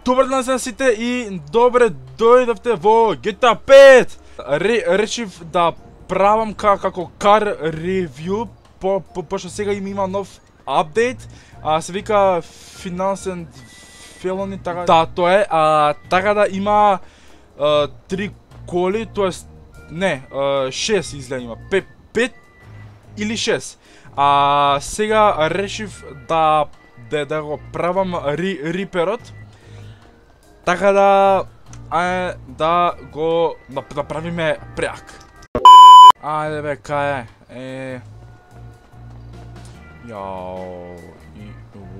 Добар ден на сите и добре дојдовте во GTA 5! Речив да правам како кар ревју, пошто сега има нов апдейт, се вика Finance and Felony, така да, тоа е, така да има 3 коли, тоест не, 6 изгледа има, 5 или 6. Сега решив да го правам риперот, така да да го направиме преак. Ајде бе, кај е? Јао,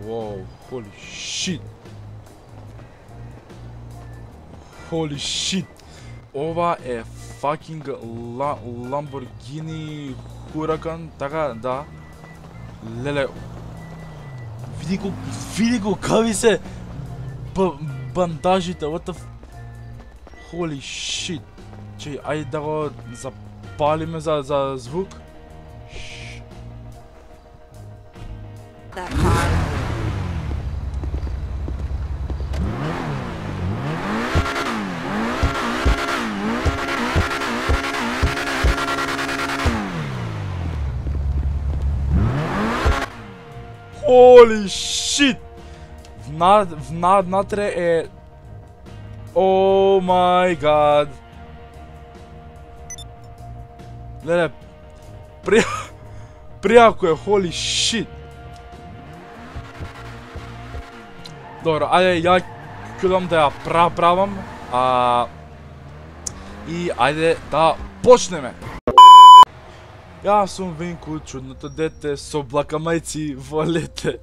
воу, holy shit. Holy shit. Ова е fucking Lamborghini Huracan, така да. Леле, види го какви се бандажите, what the holy shit. Чеј, ајде да го запалиме за звук. Holy shit! Внатре е... Oh my god! Леле, пријако е, holy shit! Добро, ајде, ја ќе да ја правам, и ајде да почнеме! Јас сум Винку, чудното дете, со блакамајци во лете.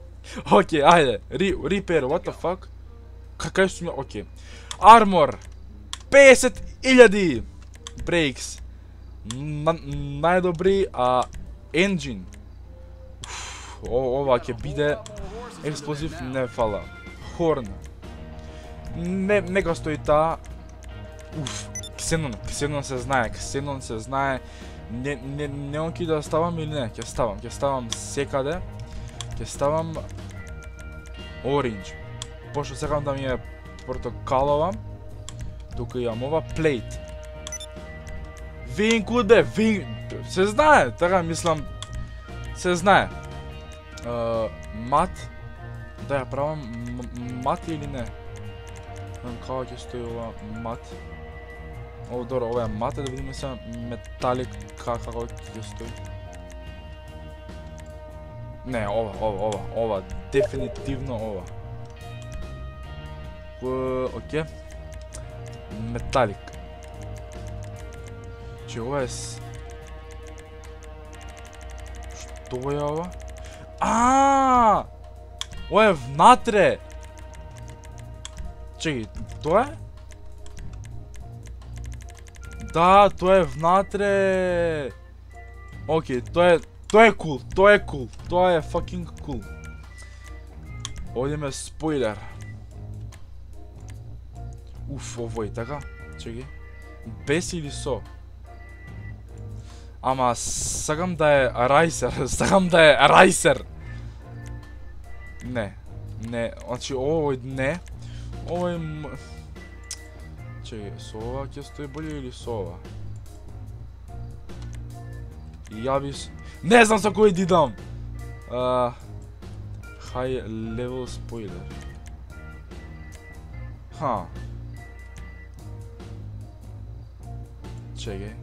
Океј, ајде, рипер, what the fuck? Кај сум ја, океј. Армор, 50.000. Брейкс, најдобри, енджин. Ова ќе биде експлозив, не фала. Хорн, нека стои таа. Ксенон се знае, не он ки да ставам или не, ќе ставам секаде, ќе ставам оранж, пошто сакам да ми е портокалова, тука имам ова плейт. Винку бе, се знае, така мислам, се знае. Мат, да ја правам мат или не? Како ќе стои ова мат? Ово добро, ова е мат, да видиме сега металик како ќе стои. Не, ова, дефинитивно ова. Окей. Металик. Че ова е... Што е ова? Ова е внатре! Чекај, тоа е? Да, тоа е внатре. Океј, тоа е кул, тоа е fucking кул. Овде има спойлер. Овој, така? Чекај. Без или со? Ама, сакам да е райсер, Не, значи овој не. Овој... Чекај, со ова ќе стои болje или со ова? И ја би... Не знам со кој дидам! High level spoiler. Чекај.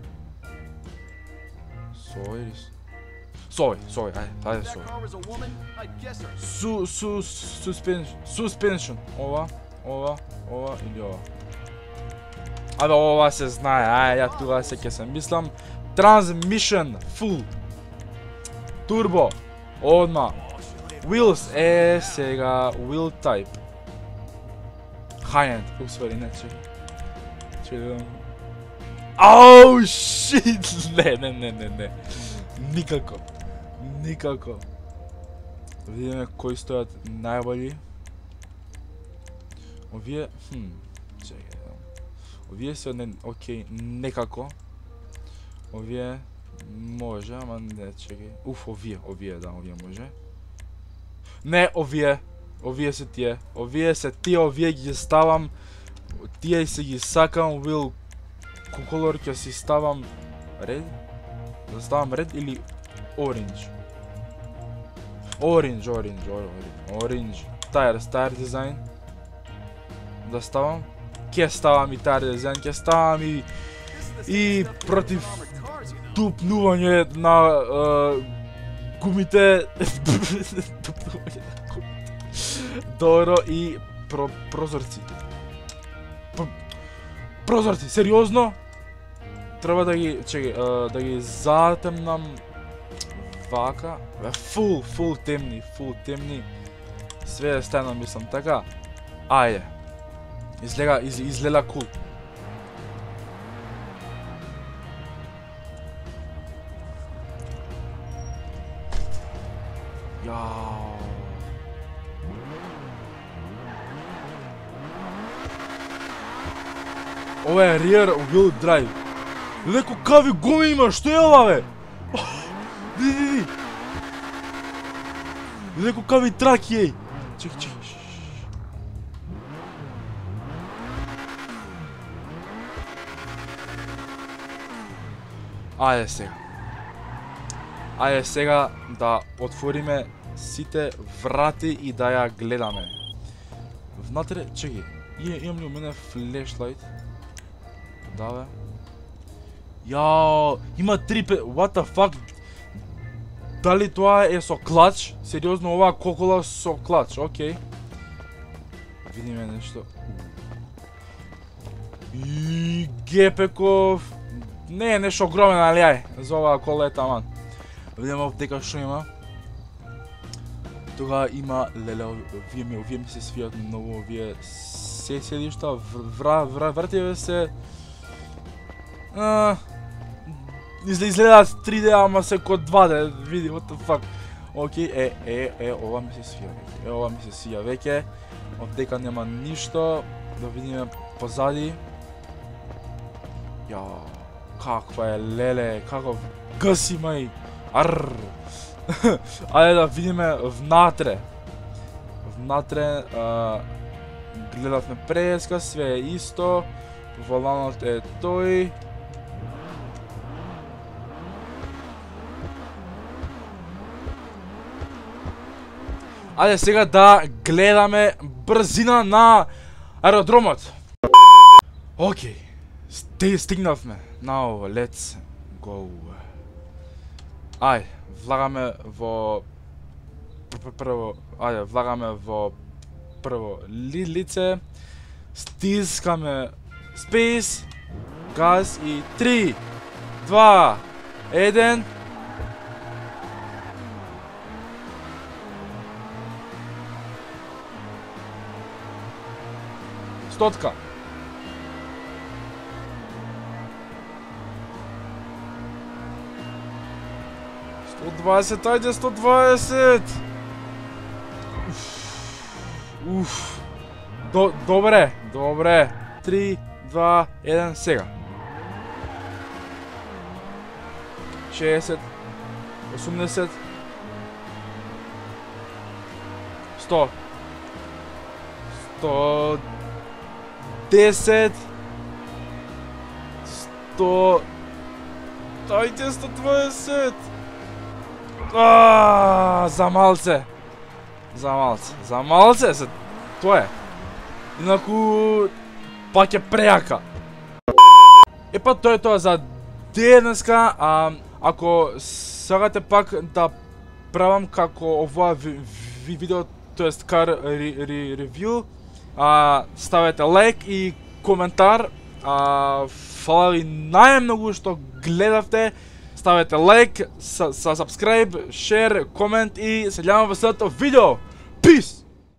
Со ова или со... Со овој, ајде со овој. Suspension. Ова или ова. Абе, ова се знае, ја тука се ќе се мислам. Transmission, full. Turbo, одма. Wheels, сега, wheel type. High-end, усвари, не, чекай. Ау, shit! Не. Никако. Видиме кои стојат најбољи. Овие, чекай. Овие се окей, некако. Овие може, ама не, чекај. Овие може. Не, овие овие се тие, овие ги ставам, тие се ги сакам, will color ќе си ставам red? Да ставам red или orange? Orange. Tire дизајн. Да ставам? Ќе ставам и tire дизајн, ќе ставам и против тупнување на гумите. Добро и прозорци. Прозорци, сериозно? Треба да ги, да ги затемнам вака. Фул темни. Све е стено, мислам, така. Ајде. Изгледа кул. Јао. Ова е rear wheel drive. Леко какви гуми има, што е ова бе? Види. Леко какви траки еј. Чекај. Ајде сега да отвориме сите врати и да ја гледаме. Внатре, чекај, имам ли у мене флешлайт? Да бе. Јао, има 3 what the fuck? Дали тоа е со клач? Сериозно, оваа кокола со клач, окей. Видиме нешто. И гепеков. Не е нешто огромен, али ај, за оваа кола е таман. Видиме овдека што има. Тога има, леле, овие ми се свијат многу, овие седишта, вративе се... Изгледаат 3D, ама се ко 2D, види, what the fuck. Океј, ова ми се свија веќе. Овдека нема ништо, да видиме позади. Јао, каква е, леле, каков гъс има и... Арррр. Ајде да видиме внатре. Гледавме преска, све е исто. Воланот е тој. Ајде сега да гледаме брзина на аеродромот. Океј. Стигнавме. Now, let's go. Ајде, влагаме во прво лице, стискаме space, газ и 3, 2, 1. Стотка. Ајде 120. Добре. 3, 2, 1, сега. 60, 80, 100, 110, 100, ајде 120. За малце се, тоа е. Инаку, пак е прејака. Епа тоа е тоа за денеска, ако сакате пак да правам како овоа видео, тоест кар ревју, ставете лайк и коментар. Фала ви најмногу што гледавте. Ставете лайк, subscribe, share, комент и се гледаме во следното видео. Peace!